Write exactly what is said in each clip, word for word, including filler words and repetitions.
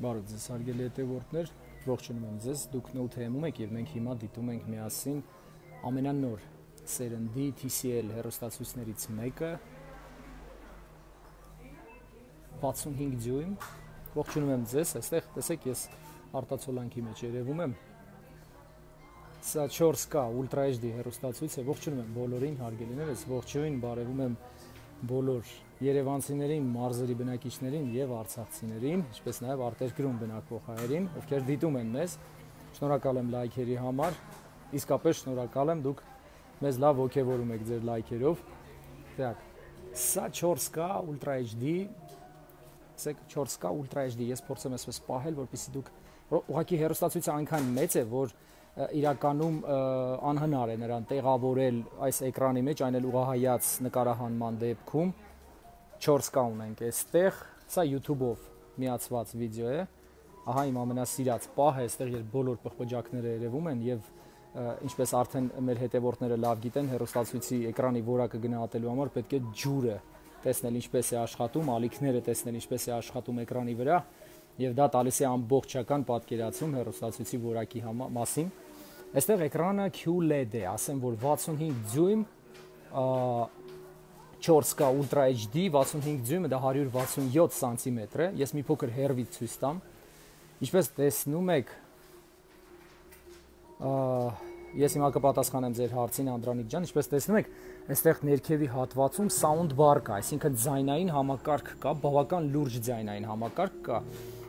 Բարև ձեզ հարգելի հետևորդներ, ողջունում եմ ձեզ, դուք Note-ում եք եւ մենք հիմա դիտում ենք միասին ամենանոր սերնդի T C L հեռուստացույցներից մեկը վաթսունհինգ դյույմ, ողջունում եմ ձեզ, այստեղ տեսեք ես արտացոլանքի մեջ երևում եմ, սա չորս K Ultra H D հեռուստացույց է, ողջունում եմ բոլորին հարգելիներս, ողջույն, բարևում եմ բոլոր երևանցիներին, մարզերի բնակիչներին եւ արցախցիներին, ինչպես նաեւ արտերկրում բնակվող հայերին, ովքեր դիտում են մեզ։ Շնորհակալ եմ լայքերի համար։ Իսկապես շնորհակալ եմ, դուք մեզ լավ ոգևորում եք ձեր լայքերով։ Так, սա չորս K Ultra H D, ասեք չորս K Ultra H D, ես փորձեմ այսպես պահել, որպեսզի դուք ուղղակի հեռուստացույցը այնքան մեծ է, որ իրականում անհնար է նրան տեղավորել այս էկրանի մեջ, այն էլ ուղղահայաց նկարահանման դեպքում։ չորս K ունենք այստեղ, սա YouTube-ով միացված վիդեո է։ Ահա իմ ամենասիրած պահը, այստեղ երբ բոլոր պղպջակները երևում են եւ ինչպես արդեն մեր հետևորդները լավ գիտեն, հեռուստացույցի էկրանի որակը գնահատելու համար պետք է ջուրը տեսնել ինչպես է աշխատում, ալիքները տեսնել ինչպես է աշխատում էկրանի վրա, եւ դա տալիս է ամբողջական պատկերացում հեռուստացույցի որակի մասին։ Այստեղ էկրանը Q L E D է, ասեմ որ վաթսունհինգ դյույմ, չորս K Ultra H D, վաթսունհինգ դյույմը դա հարյուր վաթսունյոթ սանտիմետր է, ես մի փոքր հեռվից ցույց տամ։ Ինչպես տեսնում եք, ես հիմա կպատասխանեմ ձեր հարցին Անդրանիկ ջան, ինչպես տեսնում եք, այստեղ ներքևի հատվածում sound bar կա, այսինքն ձայնային համակարգ կա, բավական լուրջ ձայնային համակարգ կա,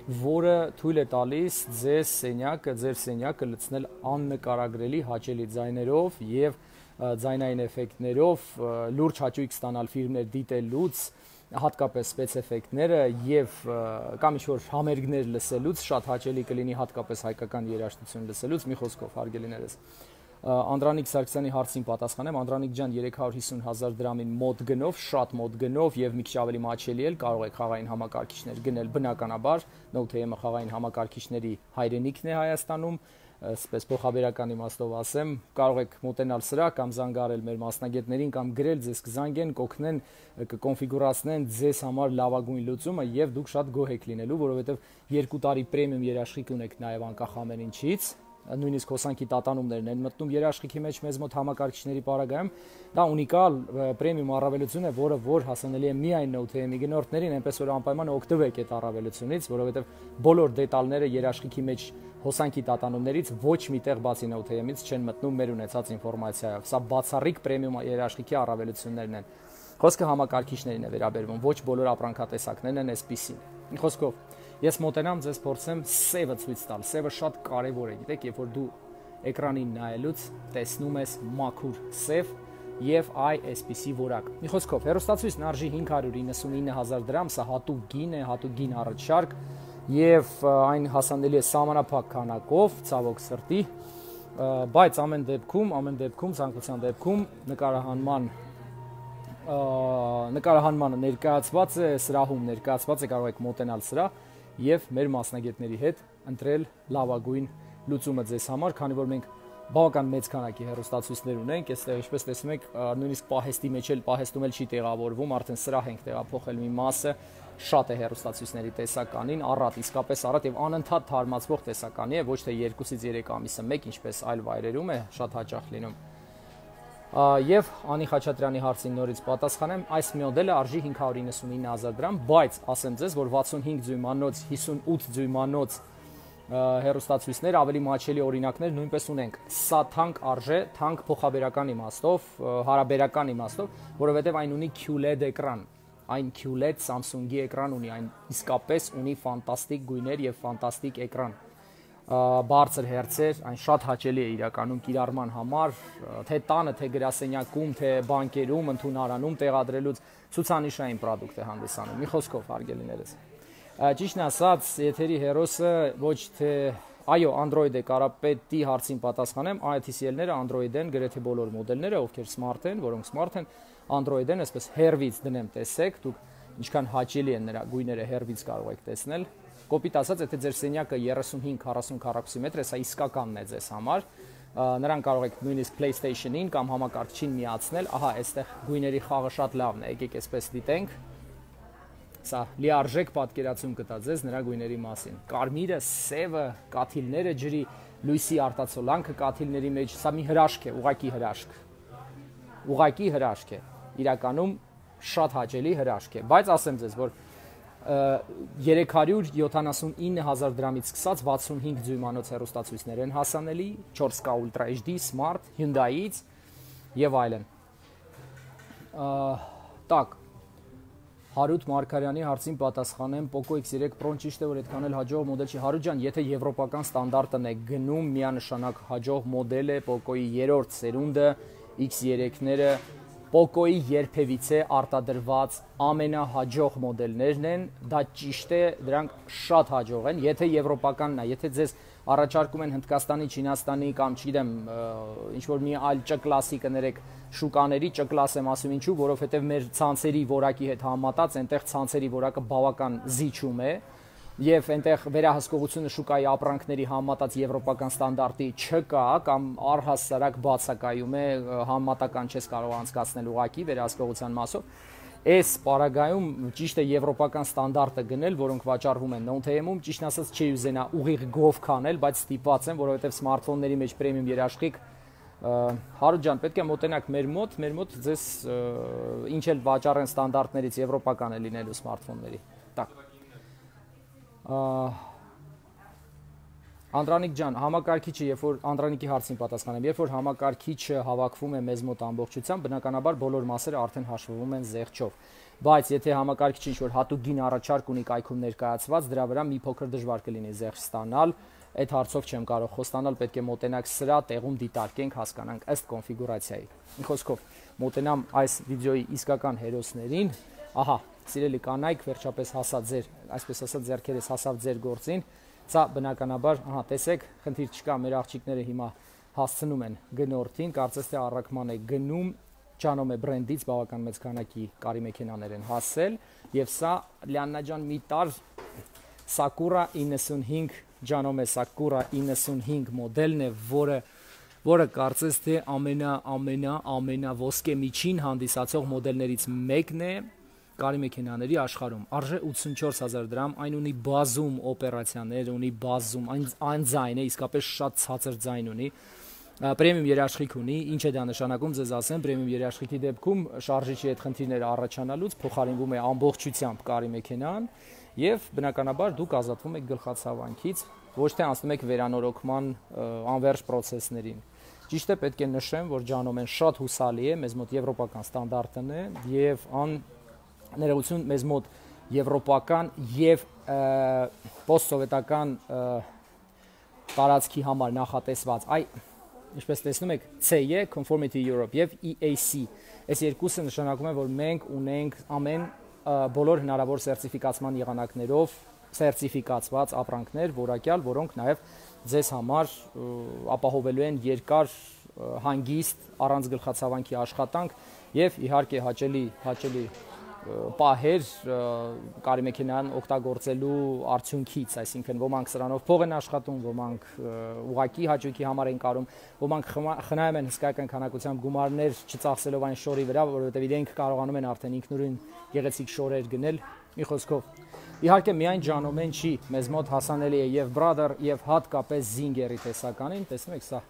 որը թույլ է տալիս ձեզ սենյակը, ձեր սենյակը լցնել աննկարագրելի հաճելի ձայներով եւ ձայնային էֆեկտներով, լուրջ հաճույք ստանալ ֆիլմներ դիտելուց, հատկապես սպեցէֆեկտները եւ կամ ինչ-որ համերգներ լսելուց շատ հաճելի կլինի, հատկապես հայկական երաժշտություն լսելուց, մի խոսքով հարգելիներս։ Անդրանիկ Սարգսյանի հարցին պատասխանեմ, Անդրանիկ ջան երեք հարյուր հիսուն հազար դրամին մոտ գնով, շատ մոտ գնով եւ մի քիչ ավելի մաչելի էլ կարող եք խաղային համակարգիչներ գնել, բնականաբար Note-ը խաղային համակարգիչների հայրենիքն է Հայաստանում, այսպես փոխաբերական իմաստով ասեմ, կարող եք մոտենալ սրա կամ զանգարել մեր մասնագետներին կամ գրել, ձեզ կզանգեն, կօգնեն, կկոնֆիգուրացնեն ձեզ համար լավագույն լուծումը եւ դուք շատ գոհ եք լինելու, որովհետեւ երկու տարի պրեմիում երաշխիք ունեք նաեւ անկախ ամեն ինչից, նույնիսկ հոսանքի տատանումներն են մտնում երաշխիքի մեջ մեզ մոտ համակարգիչների պարագայում, դա ունիկալ պրեմիում առավելություն է, որը որ հասանելի է միայն Note-ի գնորդներին, այնպես որ անպայման օգտվեք այդ առավելությունից, որովհետև բոլոր դետալները երաշխիքի մեջ հոսանքի տատանումներից ոչ միտեղ բացի Note-ից չեն մտնում մեր ունեցած ինֆորմացիայով։ Սա բացառիկ պրեմիում երաշխիքի առավելություններն են։ Խոսքը համակարգիչներին է վերաբերվում, ոչ բոլոր ապրանքատեսակներն են այսպիսին։ Մի խոսքով, ես մոտենամ ձեզ փորձեմ սևը ցույց տալ։ Սևը շատ կարևոր է, գիտեք, երբ որ դու էկրանին նայելուց տեսնում ես մաքուր սև եւ այ այսպիսի որակ։ Մի խոսքով, հեռուստացույցն արժի հինգ հարյուր իննսունինը հազար դրամ, սա հատուկ գին է, հատուկ գին առաջարկ եւ այն հասանելի է սահմանափակ քանակով, ցավոք սրտի, բայց ամեն դեպքում, ամեն դեպքում, ցանկության դեպքում նկարահանման նկարահանմանը ներկայացված է, սրահում ներկայացված է, կարող եք մոտենալ սրա եւ մեր մասնագետների հետ ընտրել լավագույն լուծումը ձեզ համար, քանի որ մենք բավական մեծ քանակի հեռուստացույցներ ունենք, այստեղ ինչպես տեսնում եք, նույնիսկ պահեստի մեջ էլ պահեստում էլ չի տեղավորվում, արդեն սրահ ենք տեղափոխել մի մասը, շատ է հեռուստացույցների տեսականին, առատ, իսկապես առատ եւ անընդհատ թարմացվող տեսականի է, ոչ թե երկուսից երեք ամիսը մեկ, ինչպես այլ վայրերում է, շատ հաճախ լինում։ Եվ Անի Խաչատրյանի հարցին նորից պատասխանեմ, այս մոդելը արժի հինգ հարյուր իննսունինը հազար դրամ, բայց ասեմ ձեզ, որ վաթսունհինգ դյույմանոց, հիսունութ դյույմանոց հեռուստացույցներ ավելի մաչելի օրինակներ նույնպես ունենք։ Սա թանկ արժե, թանկ փոխաբերական իմաստով, հարաբերական իմաստով, որովհետև այն ունի Q L E D էկրան, այն Q L E D Samsung-ի էկրան ունի, այն իսկապես ունի ֆանտաստիկ գույներ եւ ֆանտաստիկ էկրան, բարձր հերցեր, այն շատ հաճելի է իրականում կիրառման համար, թե տանը, թե գրասենյակում, թե բանկերում, ընդունարանում տեղադրելուց ցուցանիշային պրոդուկտ է հանդիսանում։ Մի խոսքով հարգելիներս։ Ճիշտն ասած, եթերի հերոսը ոչ թե այո, Android է, կարապետի հարցին պատասխանեմ, T C L-ները Android են, գրեթե բոլոր մոդելները, ովքեր smart են, որոնք smart են, Android են, այսպես հեռվից դնեմ, տեսեք, դուք ինչքան հաճելի են նրա գույները հեռվից կարող եք տեսնել։ Կոպիտ ասած, եթե ձեր սենյակը երեսունհինգ քառասուն քառակուսի մետր է, սա իսկականն է ձեզ համար, նրան կարող եք նույնիսկ PlayStation-ին կամ համակարգչին միացնել, ահա, այստեղ գույների խաղը շատ լավն է, եկեք այսպես դիտենք, սա լիարժեք պատկերացում կտա ձեզ նրա գույների մասին։ Կարմիրը, սևը, կաթիլները ջրի, լույսի արտացոլանքը կաթիլների մեջ, սա մի հրաշք է, ուղակի հրաշք։ Ուղակի հրաշք է։ Իրականում շատ հաճելի հրաշք է, բայց ասեմ ձեզ, որ երեք հարյուր յոթանասունինը հազար դրամից սկսած վաթսունհինգ դյույմանոց հեռուստացույցներ են հասանելի, չորս կա Ultra H D, Smart, Hyundai-ից եւ այլն։ Տակ Հարութ Մարգարյանի հարցին պատասխանեմ, Poco X three Pro-ն ճիշտ է, որ այդքան էլ հաջող մոդել չի։ Հարութ ջան, եթե եվրոպական ստանդարտն է գնում, միանշանակ հաջող մոդել է, Poco-ի երրորդ սերունդը, X three-ները Poco-ի երբևիցե արտադրված ամենահաջող մոդելներն են, դա ճիշտ է, դրանք շատ հաջող են, եթե եվրոպականն է, եթե ձեզ առաջարկում են Հնդկաստանի, Չինաստանի կամ չգիտեմ, ինչ որ մի այլ Չ կլասի կներեք շուկաների, Չ կլաս եմ ասում ինչու, որովհետև մեր ցանցերի որակի հետ համատած, այնտեղ ցանցերի որակը բավական զիջում է եւ այնտեղ վերահսկողությունը շուկայի ապրանքների համատած եվրոպական ստանդարտի չկա կամ առհասարակ բացակայում է, համատական չես կարող անցկացնել ուղակի վերահսկողության մասով։ Այս պարագայում ճիշտ է եվրոպական ստանդարտը գնել, որոնք վաճառվում են non-T M-ում, ճիշտն ասած չի ուզենա ուղիղ գով քանել, բայց ստիպված են, որովհետև սմարթֆոնների մեջ պրեմիում երաշխիք Հարութ ջան, պետք է մոտենաք մեր մոտ, մեր մոտ ձեզ ինչ էլ վաճառեն ստանդարտներից եվրոպական է լինելու սմարթֆոնների։ Так։ Անդրանիկ ջան, համակարգիչը, երբ որ Անդրանիկի հարցին պատասխանեմ, երբ որ համակարգիչը հավաքվում է մեզ մոտ ամբողջությամբ, բնականաբար բոլոր մասերը արդեն հաշվվում են զեղչով։ Բայց եթե համակարգիչը ինչ-որ հատուկ գին առաջարկ ունի կայքում ներկայացված, դրա վրա մի փոքր դժվար կլինի զեղչ ստանալ, այդ հարցով չեմ կարող խոստանալ, պետք է մոտենաք սրա, տեղում դիտարկենք, հասկանանք ըստ կոնֆիգուրացիայի։ Մի խոսքով, մոտենամ այս վիդեոյի իսկական հերոսներին, ահա, սիրելի կանայք, վերջապես հասա ձեր, այսպես ասած, ձեռքերս հասավ ձեր գործին, սա բնականաբար, ահա, տեսեք, խնդիր չկա, մեր աղջիկները հիմա հասցնում են գնորդին, կարծես թե առաքման է գնում, Ջանոմե բրենդից բավական մեծ քանակի կարի մեքենաներ են հասել, եւ սա Լիաննա ջան մի տար Sakura իննսունհինգ Ջանոմե Sakura իննսունհինգ մոդելն է, որը որը կարծես թե ամենա ամենա ամենա ոսկե միջին հանդիսացող մոդելներից մեկն է կարի մեքենաների աշխարհում։ Արժե ութսունչորս հազար դրամ, այն ունի բազում օպերացիաներ, ունի բազում, այն այն ձայն է, իսկապես շատ ցածր ձայն ունի։ Պրեմիում երաշխիք ունի, ինչ է դա նշանակում, ձեզ ասեմ, պրեմիում երաշխիքի դեպքում շարժիչի այդ խնդիրները առաջանալուց փոխարինվում է ամբողջությամբ կարի մեքենան եւ բնականաբար դուք ազատվում եք գլխացավանքից, ոչ թե անցնում եք վերանորոգման անվերջ process-ներին։ Ճիշտ է, պետք է նշեմ, որ Ջանոմեն շատ հուսալի է, մեզ մոտ եվրոպական ստանդարտն է եւ ան ներողություն մեզ մոտ եվրոպական եւ պոստսովետական տարածքի համար նախատեսված այ ինչպես տեսնում եք C E Conformity Europe եւ E A C այս երկուսը նշանակում է որ մենք ունենք ամեն բոլոր հնարավոր սերտիֆիկացման եղանակներով սերտիֆիկացված ապրանքներ որակյալ, որոնք նաեւ ձեզ համար ապահովելու են երկար հանգիստ առանց գլխացավանքի աշխատանք եւ իհարկե հաճելի հաճելի պահեր կարի մեքենան օգտագործելու արդյունքից, այսինքն ոմանք սրանով փող են աշխատում, ոմանք ուղակի հաճույքի համար են կարում, ոմանք խնայում են հսկայական քանակությամբ գումարներ չծախսելով այն շորի վրա, որովհետև իրենք կարողանում են արդեն ինքնուրույն գեղեցիկ շորեր գնել։ Մի խոսքով, իհարկե միայն Ջանոմեն չի, մեզ մոտ հասանելի է եւ Brother եւ հատկապես Zinger-ի տեսականին, տեսնում եք սա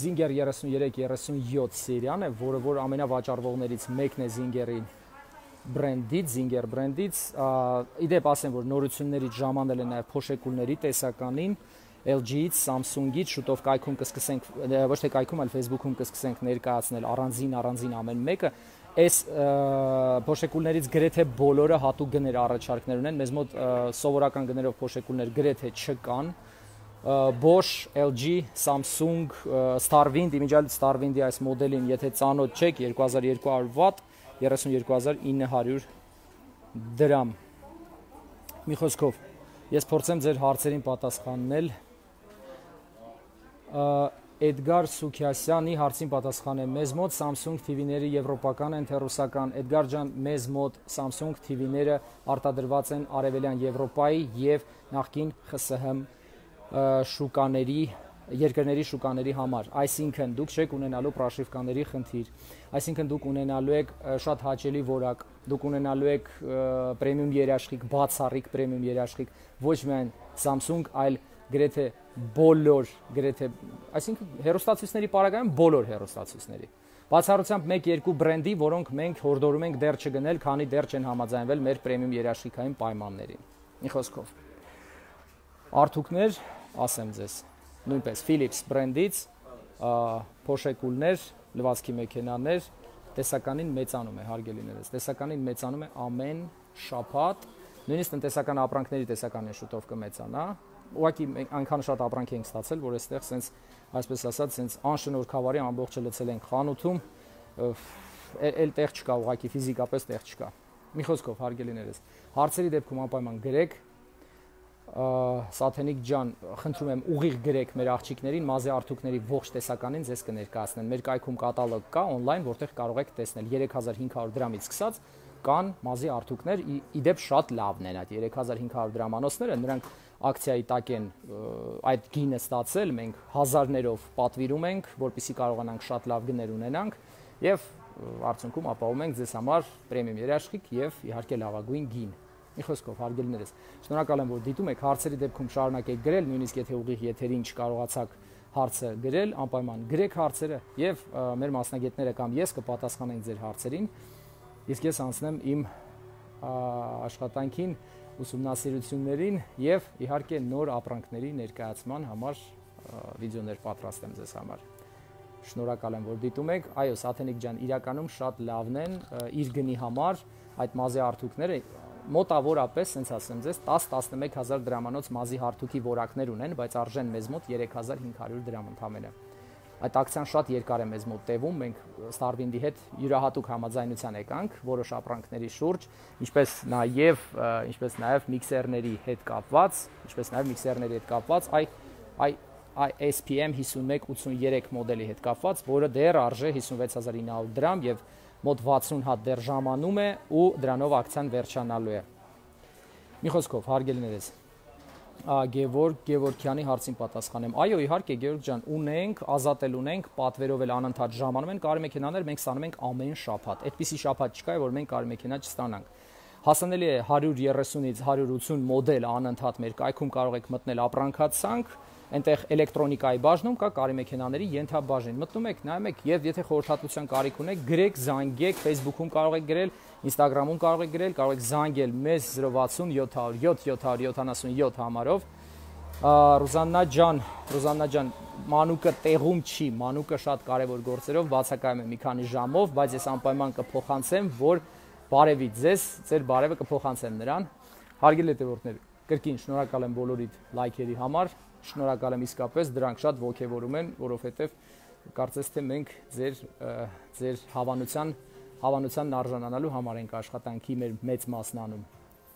Zinger երեսուններեք երեսունյոթ սերիան է, որը որ ամենավաճառվողներից մեկն է Zinger-ի բրենդից, Zinger բրենդից, իդեպ ասեմ, որ նորություններից ժամանել են նաև փոշեկուլների տեսականին, L G-ից, Samsung-ից, շուտով կայքում կսկսենք, ոչ թե կայքում, այլ Facebook-ում կսկսենք ներկայացնել առանձին, առանձին ամեն մեկը, այս փոշեկուլներից գրեթե բոլորը հատուկ գներ առաջարկներ ունեն, մեզ մոտ սովորական գներով փոշեկուլներ գրեթե չկան, Bosch, L G, Samsung, Starwind, իմիջիալ Starwind-ի այս մոդելին, եթե ծանոթ չեք, երկու հազար երկու հարյուր վատ, երեսունյոթ հազար ինը հարյուր դրամ։ Մի խոսքով, ես փորձեմ ձեր հարցերին պատասխանել։ Էդգար Սուքյասյանի հարցին պատասխանեմ։ Մեզ մոտ Samsung T V-ները եվրոպական են, թե ռուսական։ Էդգար ջան, մեզ մոտ Samsung T V-ները արտադրված են Արևելյան Եվրոպայի եւ նախկին X S H շուկաների երկրների շուկաների համար, այսինքն դուք չեք ունենալու պրաշիվկաների խնդիր, այսինքն դուք ունենալու եք շատ հաճելի որակ, դուք ունենալու եք պրեմիում երաշխիք, բացառիկ պրեմիում երաշխիք, ոչ միայն Samsung, այլ գրեթե բոլոր, գրեթե, այսինքն հեռուստացույցների պարագայում բոլոր հեռուստացույցների։ Բացառությամբ մեկ-երկու բրենդի, որոնք մենք հորդորում ենք դեռ չգնել, քանի դեռ չեն համաձայնվել մեր պրեմիում երաշխիքային պայմաններին։ Մի խոսքով։ Արթուկներ, ասեմ ձեզ, նույնպես Philips բրենդից, փոշեկուլներ, լվացքի մեքենաներ, տեսականին մեծանում է, հարգելիներս, տեսականին մեծանում է ամեն շաբաթ, նույնիսկ տնտեսական ապրանքների տեսականին շուտով կմեծանա, ուղղակի այնքան շատ ապրանք ենք ստացել, որ այստեղ սենց, այսպես ասած, սենց անշնորհքավարի ամբողջը լցել ենք խանութում, էլ տեղ չկա, ուղղակի ֆիզիկապես տեղ չկա։ Մի խոսքով, հարգելիներս, հարցերի դեպքում անպայման գրեք, Սաթենիկ ջան, խնդրում եմ ուղիղ գրեք մեր աղջիկներին, մազի արթուկների ողջ տեսականին ձեզ կներկայացնեն։ Մեր կայքում կատալոգ կա on-line, որտեղ կարող եք տեսնել երեք հազար հինգ հարյուր դրամից սկսած կան մազի արթուկներ, իդեպ շատ լավն են այդ երեք հազար հինգ հարյուր դրամանոցները, նրանք ակցիայի տակ են այդ գինը ստացել, մենք հազարներով պատվիրում ենք, որպեսզի կարողանանք շատ լավ գներ ունենանք եւ արդյունքում ապահովում ենք ձեզ համար պրեմիում երաշխիք եւ իհարկե լավագույն գին։ Մի խոսքով, հարգելիներս, շնորհակալ եմ, որ դիտում եք, հարցերի դեպքում շարունակեք գրել, նույնիսկ եթե ուղիղ եթերին չկարողացաք հարցը գրել, անպայման գրեք հարցերը եւ մեր մասնագետները կամ ես կպատասխանենք ձեր հարցերին, իսկ ես անցնեմ իմ աշխատանքին, ուսումնասիրություններին եւ իհարկե նոր ապրանքների ներկայացման համար վիդեոներ պատրաստեմ ձեզ համար։ Շնորհակալ եմ, որ դիտում եք, այո, Սաթենիկ ջան, իրականում շատ լավն են իր գնի համար այդ մազի արթուկները մոտավորապես, ասենց ասեմ ձեզ, տաս տասնմեկ հազար դրամանոց մազի հարթուկի որակներ ունեն, բայց արժեն մեզ մոտ երեք հազար հինգ հարյուր դրամ ընդամենը։ Այդ ակցիան շատ երկար է մեզ մոտ տևում, մենք Starwind-ի հետ յուրահատուկ համաձայնության եկանք որոշ ապրանքների շուրջ, ինչպես նաև, ինչպես նաև միքսերների հետ կապված, ինչպես նաև միքսերների հետ կապված, այ այ S P M հիսունմեկ ութսուներեք մոդելի հետ կապված, որը դեռ արժե հիսունվեց հազար ինը հարյուր դրամ եւ մոտ վաթսուն հատ դեռ ժամանում է ու դրանով ակցիան վերջանալու է։ Մի խոսքով, հարգելիներս, Գևորգ Գևորգյանի հարցին պատասխանեմ։ Այո, իհարկե, Գևորգ ջան, ունենք, ազատել ունենք, պատվերով էլ անընդհատ ժամանում են կարի մեքենաներ, մենք ստանում ենք ամեն շաբաթ։ Այդպիսի շաբաթ չկա, որ մենք կարի մեքենա չստանանք։ Հասանելի է հարյուր երեսունից հարյուր ութսուն մոդել անընդհատ մեր կայքում կարող եք մտնել ապրանքացանք, այնտեղ էլեկտրոնիկայի բաժնում կա կարի մեքենաների ենթաբաժին։ Մտնում եք, նայում եք եւ եթե խորհրդատվության կարիք ունեք, գրեք, զանգեք, Facebook-ում կարող եք գրել, Instagram-ում կարող եք գրել, կարող եք զանգել մեզ զրո վաթսուն յոթ հարյուր յոթ յոթ հարյուր յոթանասունյոթ համարով։ Ռուզաննա ջան, Ռուզաննա ջան, մանուկը տեղում չի, մանուկը շատ կարևոր գործերով բացակայում է մի քանի ժամով, բայց ես անպայման կփոխանցեմ, որ բարևի ձեզ, ձեր բարևը կփոխանցեմ նրան։ Հարգելի հետևորդներ, կրկին շնորհակալ եմ բոլորիդ լայքերի համար, շնորհակալ եմ իսկապես, դրանք շատ ոգևորում են, որովհետև կարծես թե մենք ձեր ձեր հավանության հավանությանն արժանանալու համար ենք աշխատանքի մեր մեծ մասն անում։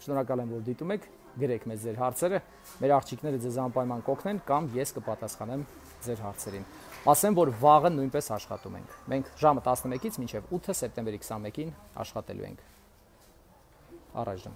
Շնորհակալ եմ, որ դիտում եք, գրեք մեզ ձեր հարցերը, մեր աղջիկները ձեզ անպայման կօգնեն կամ ես կպատասխանեմ ձեր հարցերին։ Ասեմ, որ վաղը նույնպես աշխատում ենք։ Մենք ժամը տասնմեկից մինչև ութը սեպտեմբերի քսանմեկին աշխատելու ենք։ Առայժմ